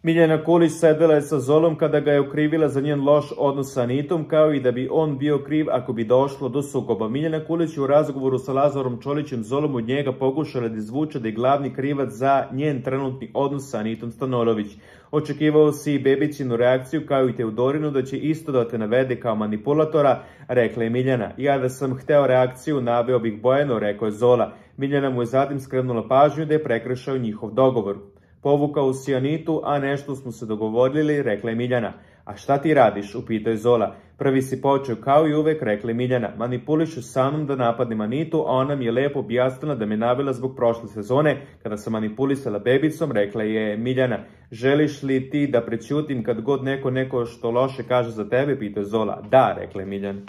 Miljana Kulić sedela je sa Zolom kada ga je okrivila za njen loš odnos sa Anitom, kao i da bi on bio kriv ako bi došlo do sukoba. Miljana Kulić je u razgovoru sa Lazarom Čolićem Zolom od njega pokušala da izvuče da je glavni krivac za njen trenutni odnos sa Anitom Stanolović. Očekivao si i Bebićinu reakciju kao i Teodorinu da će isto da te navede kao manipulatora, rekla je Miljana. Ja da sam hteo reakciju, naveo bih Bojanu, rekao je Zola. Miljana mu je zatim skrenula pažnju da je prekršao njihov dogovor. Povukao si Anitu, a nešto smo se dogovorili, rekla je Miljana. A šta ti radiš, upitao je Zola. Prvi si počeo kao i uvek, rekla je Miljana. Manipulišu sa mnom da napadnem Anitu, a ona mi je lepo objasnila da me navela zbog prošle sezone, kada sam manipulisala Bebicom, rekla je Miljana. Želiš li ti da prećutim kad god neko što loše kaže za tebe, pitao je Zola. Da, rekla je Miljana.